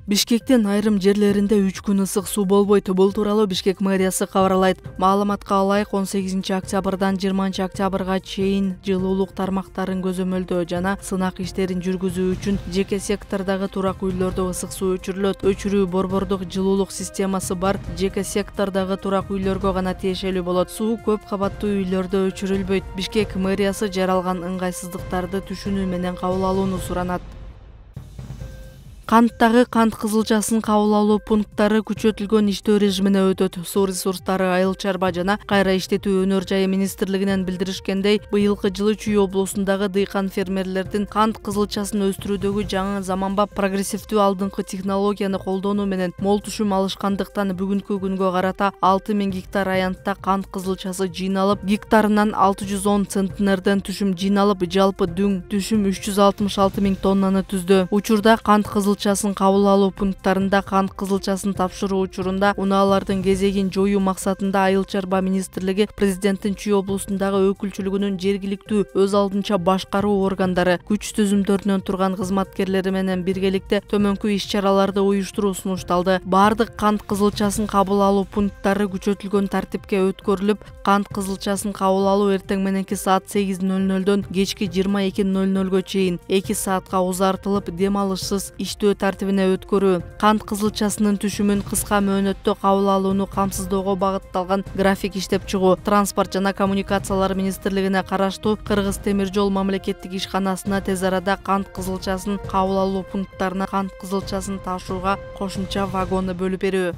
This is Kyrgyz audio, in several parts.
Бишкектин айрым жерлеринде 3 күн ысык суу болбойт. Бул тууралуу Бишкек мэриясы кабарлайт. Маалыматка ылайык 18 октябрдан 20 октябрга чейин жылуулук тармактарын көзөмөлдөө жана сынак иштерин жүргүзүү үчүн жеке сектордогу турак үйлөрдө ысык суу өчүрүлөт. Өчүрүү борбордук жылуулук системасы бар жеке сектордогу турак үйлөргө гана тиешелүү болот. Суу көп кабаттуу үйлөрдө өчүрүлбөйт. Бишкек мэриясы жаралган ыңгайсыздыктарды түшүнүү менен кабыл алууну суранат. Канттагы кант кызылчасын кабыл алуу пункттары күчөтүлгөн иштөө режимине өтөт. Суу ресурстары, айыл чарба жана кайра иштетүү өнөр жайы министрлигинен билдиришкендей, быйылкы жылы Чүй облусундагы дыйкан фермерлердин кант кызылчасын өстүрүүдөгү жаңы заманбап прогрессивдүү алдыңкы технологияны колдонуу менен мол түшүм алышкандыктан бүгүнкү күнгө карата 6000 гектар аянтта кант кызылчасы жыйналып, гектарынан 610 центнерден түшүм жыйналып, жалпы дүң түшүм 366 000 тоннаны түздү. Учурда кант кызылчасын кабыл алуу пункттарында кант кызылчасын тапшыруу учурунда унаалардын кезегин жоюу максатында Айыл чарба министрлиги президенттин Чүй облусундагы өкүлчүлүгүнүн жергиликтүү өз алдынча башкаруу органдары, күч түзүмдөрүнөн турган кызматкерлери менен биргеликте төмөнкү иш-чараларды уюштуруу сунушталды. Бардык кант кызылчасын кабыл алуу пункттары күчөтүлгөн тартипке өткөрүлүп, кант кызылчасын кабыл алуу эртең мененки саат 8:00дөн кечки 22:00 чейин 2 саатка узартылып, дем алышсыз иштөө тартибине өткөрүү. Кант кызылчасынын түшүмүн кыска мөөнөттө кабыл алууну камсыздоого багытталган график иштеп чыгуу. Транспорт жана коммуникациялар министрлигине караштуу Кыргыз темир жол мамлекеттик ишканасына тез арада кант кызылчасын кабыл алуу пункттарына кант кызылчасын ташууга кошумча вагоны бөлүп берүү.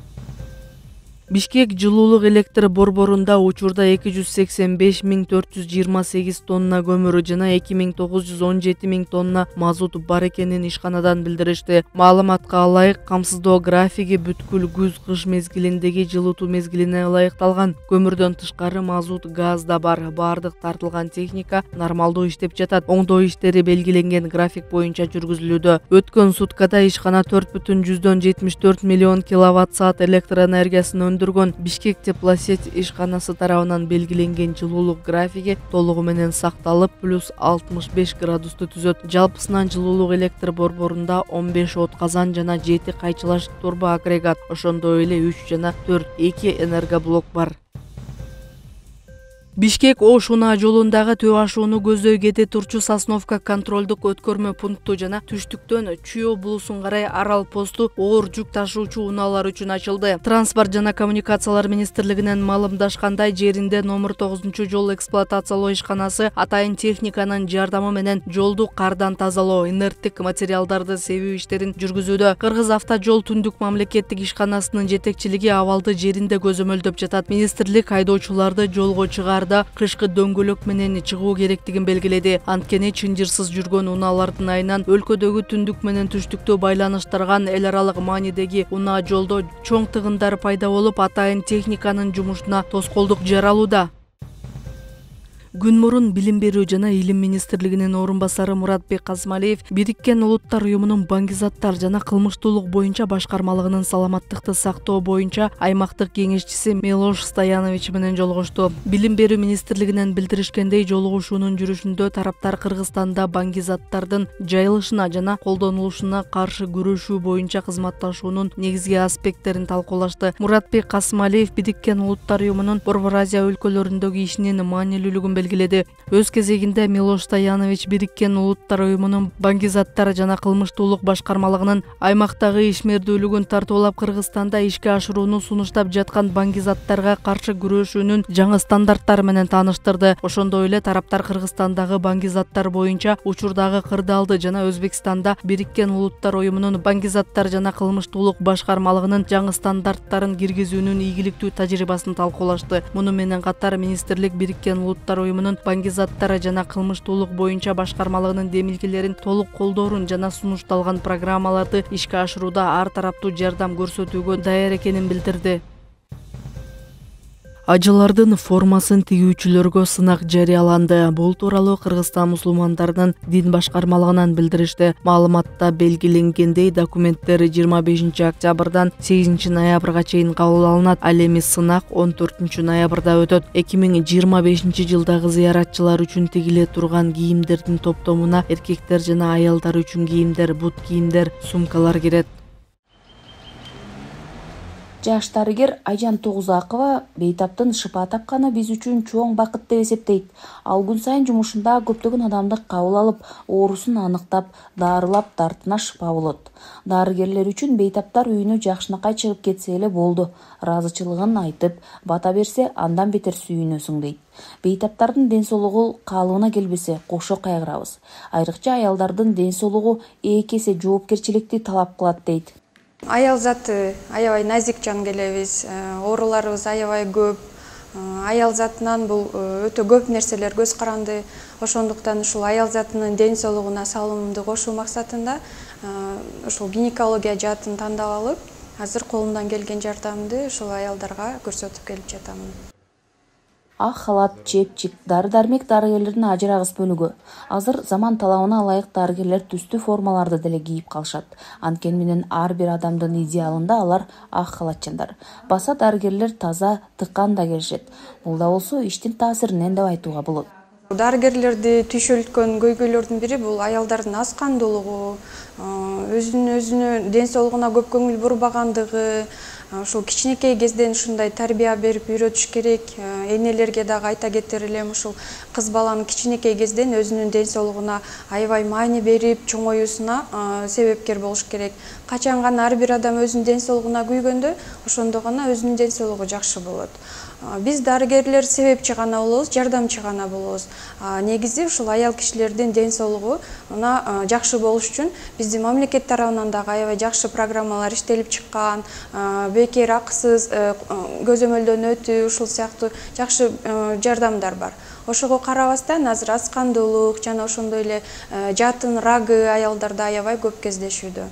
Бишкек жылуулук электр борборунда учурда 285 428 тонна көмүр жана 2917 000 тонна мазут бар экенин ишканадан билдиришти. Маалыматка ылайык, камсыздоо графиги бүткүл күз-кыш мезгилиндеги жылытуу мезгилине ылайыкталган. Көмүрдөн тышкары мазут, газ да бар. Бардык тартылган техника нормалдуу иштеп жатат. Оңдоо иштери белгиленген график боюнча жүргүзүлүүдө. Өткөн суткада ишкана 4,74 миллион киловатт-саат электр энергиясын Бишкек теплосеть ишканасы тарабынан белгиленген жылуулук графиги толугу менен сакталып, плюс 65 градусту түзөт. Жалпысынан жылуулук электр борборунда 15 от казан жана 7 кайчылаш турбо агрегат, ошондой эле 3 жана 4 2 энергоблок бар. Бишкек-Ош унаа жолундагы төө ашууну көздөй кете турчу Сосновка контролдук өткөрмө пункту жана түштүктөн Чүй облусун карай Арал посту оор жүк ташуучу унаалар үчүн ачылды. Транспорт жана коммуникациялар министрлигинен маалымдашкандай, жеринде номер 9-жол эксплуатациялоо ишканасы атайын техниканын жардамы менен жолду кардан тазалоо, инерттик материалдарды себүү иштерин жүргүзүүдө. Кыргыз автожол түндүк мамлекеттик ишканасынын жетекчилиги абалды жеринде көзөмөлдөп жатат. Министрлик айдоочуларды жолго чыгарды кышкы дөңгөлөк менен чыгуу керектигин белгиледи. Анткени чынжырсыз жүргөн унаалардын айынан өлкөдөгү түндүк менен түштүктү байланыштырган эл аралык маанидеги унаа жолдо чоң тыгындар пайда болуп, атайын техниканын жумушуна тоскоолдук жаралууда. Күн мурун Билим берүү жана Илим министрлигинин орун басары Муратбек Касмалиев Бириккен Улуттар уюмунун баңгизаттар жана кылмыштуулук боюнча башкармалыгынын саламаттыкты сактоо боюнча аймактык кеңешчиси Милош Стоянович менен жолугушту. Билим берүү министрлигинен билдиришкендей, жолугушуунун жүрүшүндө тараптар Кыргызстанда баңгизаттардын жайылышына жана колдонулушуна каршы күрөшүү боюнча кызматташуунун негизги аспекттерин талкуулашты. Муратбек Касмалиев Бириккен Улуттар уюмунун Борбор Азия өлкөлөрүндөгү ишинин маанилүүлүгүн белгиледи. Өз кезегинде Милош Стоянович Бириккен Улуттар уюмунун баңгизаттар жана кылмыштуулук башкармалыгынын аймактагы ишмердүүлүгүн тартуулап, Кыргызстанда ишке ашырууну сунуштап жаткан баңгизаттарга каршы күрөшүүнүн жаңы стандарттары менен тааныштырды. Ошондой эле тараптар Кыргызстандагы баңгизаттар боюнча учурдагы кырдаалды жана Өзбекстанда Бириккен Улуттар уюмунун баңгизаттар жана кылмыштуулук башкармалыгынын жаңы стандарттарын киргизүүнүн ийгиликтүү тажрыйбасын талкуулашты. Муну менен катар министрлик Бириккен Улуттар уюмунун баңгизаттары жана кылмыштуулук боюнча башкармалыгынын демилгелерин толук колдоорун жана сунушталган программаларды ишке ашырууда ар тараптуу жардам көрсөтүүгө даяр экенин билдирди. Ажылардын формасын тигүүчүлөргө сынак жарыяланды. Бул тууралуу Кыргызстан мусулмандарынын дин башкармалыгынан билдиришти. Маалыматта белгиленгендей, документтер 25 октябрдан 8 ноябрга чейин кабыл алынат. Ал эми сынак 14 ноябрда өтөт. 2025 жылдагы зыяратчылар үчүн тигиле турган кийимдердин топтомуна эркектер жана аялдар үчүн кийимдер, бут кийимдер, сумкалар кирет. Жаш дарыгер Айжан Тогузакова бейтаптын шыпа тапканы биз үчүн чоң бакыт деп эсептейт. Ал күн сайын жумушунда көптөгөн адамды кабыл алып, оорусун аныктап, дарылап, дартына шыпа болот. Дарыгерлер үчүн бейтаптар үйүнө жакшынакай чыгып кетсе эле болду. Ыраазычылыгын айтып, бата берсе, андан бетер сүйүнөсүң дейт. Бейтаптардын ден соолугу калыбына келбесе, кошо кайгырабыз. Айрыкча аялдардын ден соолугу эки эсе жоопкерчиликти талап кылат дейт. Аял заты аябай назик жан келебиз, ооруларыбыз аябай көп. Аял затынан бул өтө көп нерселер көз каранды. Ошондуктан ушул аял затынын ден соолугуна салымымды кошуу максатында ушул гинекология жаатын тандап алып, азыр колумдан келген жардамды ушул аялдарга көрсөтүп келип жатамын. Ак халат, чепчик, дары-дармек дарыгерлердин ажырагыс бөлүгү. Азыр заман талабына ылайык дарыгерлер түстүү формаларды деле кийип калышат. Анткени менен ар бир адамдын идеалында алар ак халатчандар. Баса дарыгерлер таза, тыккан да келишет. Бул да болсо иштин таасиринен деп айтууга болот. Дарыгерлерди түйшөлткөн көйгөйлөрдүн бири бул аялдардын аз кандуулугу, өзүнө ден соолугуна көп көңүл бурбагандыгы. Ушул кичинекей кезден ушундай тарбия берип үйрөтүш керек. Энелерге дагы айта кетер элем, ушул кыз баланын кичинекей кезден өзүнүн ден соолугуна аябай маани берип, чоңоюусуна себепкер болуш керек. Качан гана ар бир адам өзүнүн ден соолугуна күйгөндө, ошондо гана өзүнүн ден соолугу жакшы болот. Биз дарыгерлер себепчи гана болобуз, жардамчы гана болобуз. Негизи ушул аял кишилердин ден соолугуна жакшы болуш үчүн биздин мамлекет тарабынан дагы аябай жакшы программалар иштелип чыккан. Бекер акысыз көзөмөлдөн өтүү, ушул сыяктуу жакшы жардамдар бар. Ошого карабастан азыр аз кандуулук жана ошондой эле жатын рагы аялдарда аябай көп кездешүүдө.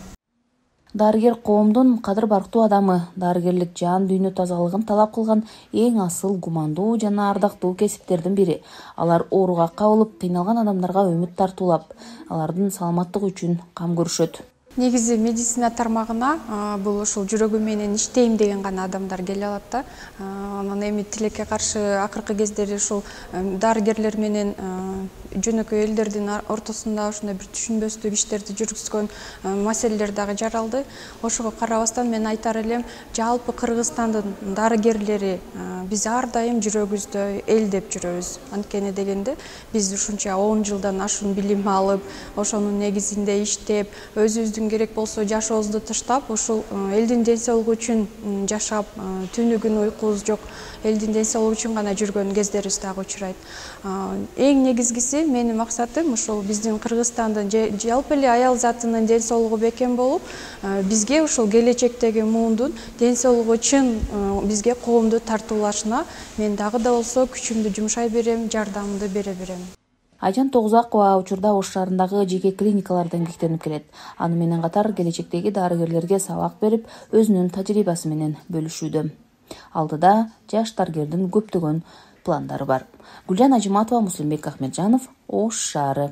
Дарыгер коомдун кадыр барктуу адамы, дарыгерлик жан дүйнө тазалыгын талап кылган эң асыл, гумандуу жана ардактуу кесиптердин бири. Алар ооруга кабылып, кыйналган адамдарга үмүт тартуулап, алардын саламаттыгы үчүн кам көрүшөт. Негизи медицина тармагына бул ушул жүрөгүм менен иштейм деген гана адамдар келе алат да. Анан эми тилекке каршы акыркы кездери ушул дарыгерлер менен жөнөкөй элдердин ортосунда ушундай бир түшүнбөстүк иштерди жүргүзгөн маселелер дагы жаралды. Ошого карабастан мен айтар элем, жалпы Кыргызстандын дарыгерлери биз ар дайым жүрөгүбүздө эл деп жүрөбүз. Анткени дегенде биз ушунча 10 жылдан ашуун билим алып, ошонун негизинде иштеп, өзүбүздүн керек болсо жашообузду таштап, ушул элдин ден соолугу үчүн жашап, түнү күнү уйкубуз жок, элдин ден соолугу үчүн гана жүргөн кездерибиз дагы учурайт. Эң негизгиси менин максатым ушул биздин Кыргызстандын жалпы эле аял затынын ден соолугу бекем болуп, бизге ушул келечектеги муундун ден соолугу үчүн бизге коомду тартуулашына мен дагы да болсо күчүмдү жумшай берем, жардамымды бере берем. Айжан Тогузакова учурда Ош шаарындагы жеке клиникаларда эмгектенип келет. Аны менен катар келечектеги дарыгерлерге сабак берип, өзүнүн тажрыйбасы менен бөлүшүүдө. Алдыда жаш дарыгердин көптөгөн пландары бар. Гүлжан Ажыматова, Муслимбек Ахмеджанов, Ош шаары.